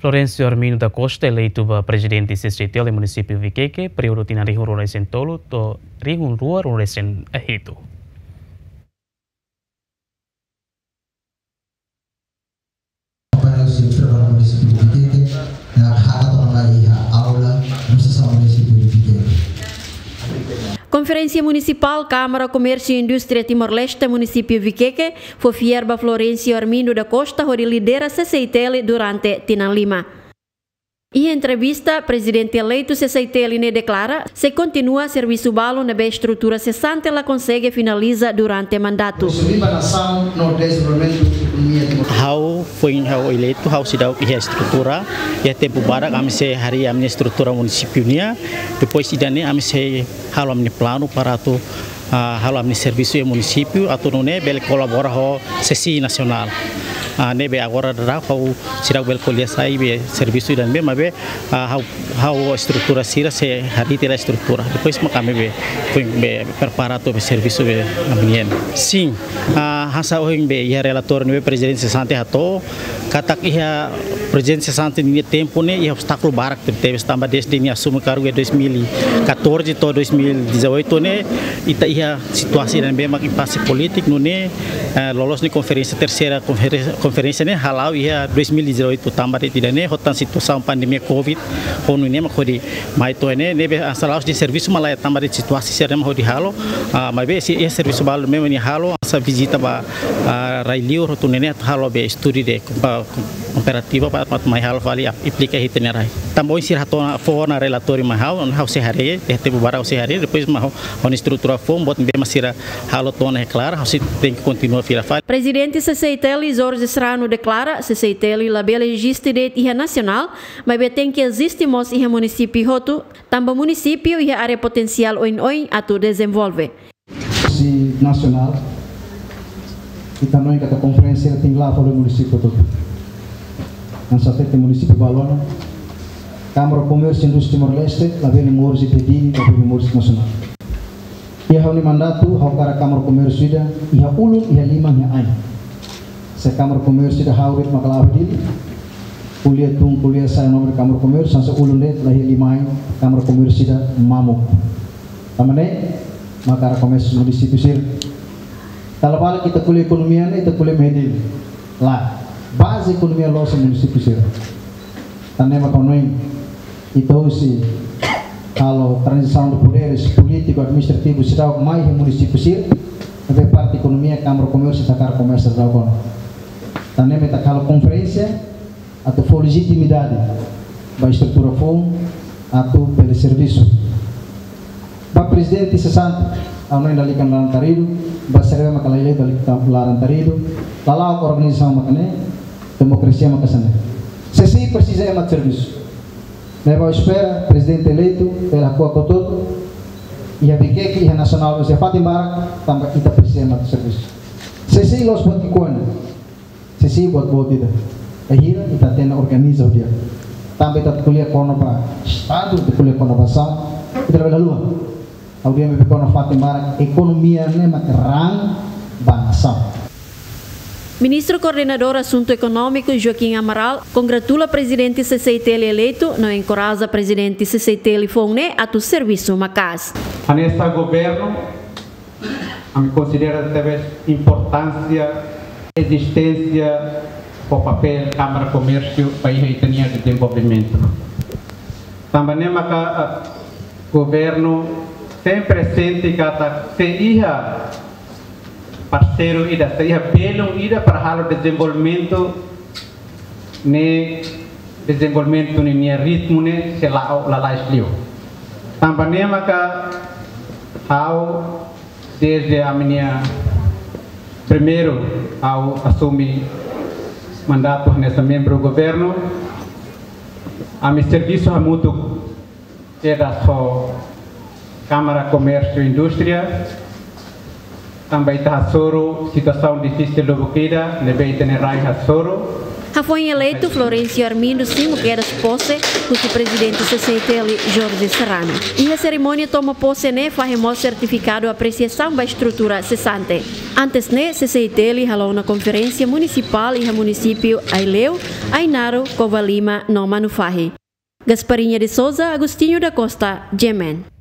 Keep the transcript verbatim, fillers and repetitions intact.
Florencio Armindo da Costa eleitu ba prezidente CCI-Tel iha munisípiu Viqueque, períodu tinan rihun rua resin tolu to'o rihun rua rua resin hitu. Para o seu trabalho município de Viqueque, na haka tona mai iha aula, no sessão município de Viqueque. Konferénsia Munisipál Kámara Komérsiu Indústria Timor-Leste, munisípiu Viqueque, fó fiar ba Florencio Armindo da Costa hodi lidera CCI-Tel durante tinan lima. Iha entrevista, prezidente eleitu CCI-Tel ne'e deklara, sei kontinua servisu balun ne'ebé estrutura sesante la konsege finaliza durante mandatu. Ha'u foin ha'u eleitu, ha'u seidauk iha estrutura, iha tempu badak ami sei harii ami-nia estrutura munisípiu nian, depois ida-ne'e ami sei halo ami-nia planu para atu, ah, halo ami-nia servisu iha munisípiu, atu nune'e bele kolabora ho CCI nasionál. Ah, ne'ebé agora daudaun ha'u seidauk bele ko'alia sai be servisu ida-ne'ebé, maibé, ah, ha'u, ha'u estrutura sira sei harii tiha estrutura. Depois mak ami be, foin be prepara atu be servisu be ami-nian. Sin, ah, hanesan ohin be iha relatóriu ne'ebé prezidente sesante hato'o, katak iha prezidente sesante nia tempu ne'e iha obstákulu barak tebetebes tanba dezde nia asume kargu iha dois mil e catorze to'o dois mil e dezoito ne'e, ita iha situasaun ida-ne'ebé mak impase polítiku nune'e, eh, loloos ne'e konferénsia terseira konferénsia, konferénsia ne'e hala'o iha dois mil e dezoito tanba de'it ida-ne'e ho tan situasaun pandemia covid ho nune'e mak hodi mai to'o ne'e, ne'ebé hanesan la'ós de'it servisu mak laiha tanba de'it situasaun sira-ne'e mak hodi halo, ah, maibé sei iha servisu balu memang nia halo, hanesan vizita ba, ah, rai-liur hotu nune'e atu halo be estudu de, ah, komparativa para atu mai halo fali, ah, aplika iha ita-nia rai. Tanba ohin sira hato'o ona fó ona relatóriu mai ha'u, ha'u sei haree, iha tempu badak ha'u sei haree, depois mak ha'u, ha'u-nia estrutura foun, buat ne'ebé mak sira halo to'o ona iha klaru, ha'u sei tenke kontinua fila fali. Prezidente CCI-Tel Jorge Serrano deklara, CCI-Tel labele eziste de'it iha nasionál, maibé tenke eziste mós iha munisípiu hotu, tanba munisípiu iha área potensiál oin-oin atu dezenvolve. Si nasionál, ita hanoin katak konferénsia tenke la'o fali munisípiu hotu. Hanesan hatete munisípiu balu ona, Kámara Komérsiu Indústria Timor-Leste labele moris iha Dili, labele moris nasionál. Iha ha'u-nia mandatu, ha'u hakarak Kámara Komérsiu ida iha ulun, iha liman, iha ain. Se Kámara Komérsiu ida ha'u de'it mak la'o iha Dili, ko'alia tun, ko'alia sa'e nome Kámara Komérsiu, hanesan ulun de'it la iha liman, Kámara Komérsiu ida mamuk. Tanba ne'e mak hakarak komérsiu munisípiu sira. Dala barak ita ko'alia ekonomia ne'e, ita ko'alia mai Dili. Lae, baze ekonomia loloos iha munisípiu sira. Tan ne'e mak ha'u hanoin, ita husi halo tranzisaun de poderes polítiku, administrativu seidauk mai iha munisípiu sira, maibé parte ekonomia, Kámara Komérsiu ita hakarak komesa daudaun ona. Tan ne'e mak ita halo konferénsia atu fó lejitimidade ba estrutura foun atu bele servisu. Ba prezidente sesante, ha'u hanoin lalika laran-taridu, ba sira be mak la eleitu lalika laran-taridu, lala'ok organizasaun mak ne'e, demokrasia mak hanesan ne'e. CCI presiza ema atu servisu. Ne'ebé ha'u espera, prezidente eleitu, bele hakuak hotu-hotu, iha Viqueque, iha nasionál, iha fatin barak, tanba ita presiza ema atu servisu. CCI la'ós buat ki'ikoan. CCI buat boot ida. Bainhira ita hatene organiza ho di'ak. Tanba ita ko'alia kona-ba Estadu, ita ko'alia kona-ba nasaun, ita labele haluha. Ha'u dehan be kona-ba fatin barak, ekonomia ne'e mak raan ba nasaun. Ministru Koordenadór Asuntu Ekonómiku Joaquim Amaral kongratula prezidente CCI-Tel eleitu no enkoraja prezidente CCI-Tel foun ne'e atu servisu maka'as. Hanesan governu, ami konsidera tebes importánsia, ezisténsia ho papél Kámara Komérsiu ba iha ita-nia dezenvolvimentu. Tanba ne'e maka, eh, governu sempre sente katak se iha parseiru ida, se iha belun ida para halo dezenvolvimentu, ne'e dezenvolvimentu ne'e nia ritmu ne'e sei la'o lalais liu. Tanba ne'e maka ha'u dezde ami-nia primeiru ha'u asume mandatu hanesan membru governu, ami servisu hamutuk kedas ho Kámara Komérsiu Indústria, tanba ita hasoru situasaun difisil lubuk ida, ne'ebé ita-nia rai hasoru, Hafoin eleitu, Florencio Armindo simu kedas pose husi Prezidente C C I T L, Jorge Serrano. Iha serimónia toma pose ne'e fahe mós sertifikadu apresiasaun ba estrutura sesante. Antes ne'e, C C I T L halo ona konferénsia munisipál iha munisípiu Aileu, Ainaro, Covalima no Manufahi. Gasparinha de Souza, Agostinho da Costa, G M N.